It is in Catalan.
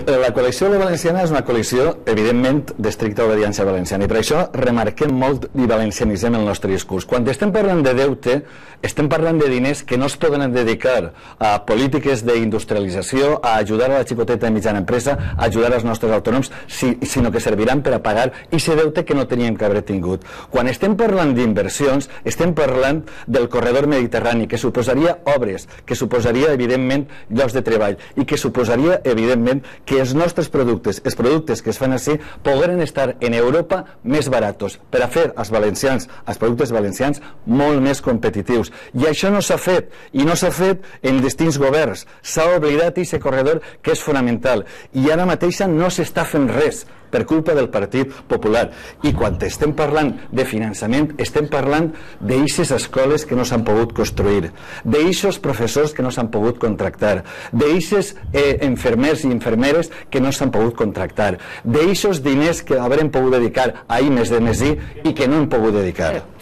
La coalició valenciana és una coalició, evidentment, d'estricta obediència valenciana, i per això remarquem molt i valencianitzem el nostre discurs. Quan estem parlant de deute, estem parlant de diners que no es poden dedicar a polítiques d'industrialització, a ajudar a la xicoteta i mitjana empresa, a ajudar als nostres autònoms, sinó que serviran per a pagar aquest deute que no teníem que haver tingut. Quan estem parlant d'inversions, estem parlant del corredor mediterrani, que suposaria obres, que suposaria, evidentment, llocs de treball, i que suposaria, evidentment, que els nostres productes, els productes que es fan així, pogueren estar en Europa més baratos, per a fer als valencians, als productes valencians, molt més competitius. I això no s'ha fet, i no s'ha fet en distints governs. S'ha oblidat aquest corredor que és fonamental, i ara mateixa no s'està fent res per culpa del Partit Popular. I quan estem parlant de finançament, estem parlant d'eixes escoles que no s'han pogut construir, d'eixos professors que no s'han pogut contractar, d'eixes infermers i infermeres que no s'han pogut contractar, d'eixos diners que haurem pogut dedicar a I+D+I i que no hem pogut dedicar.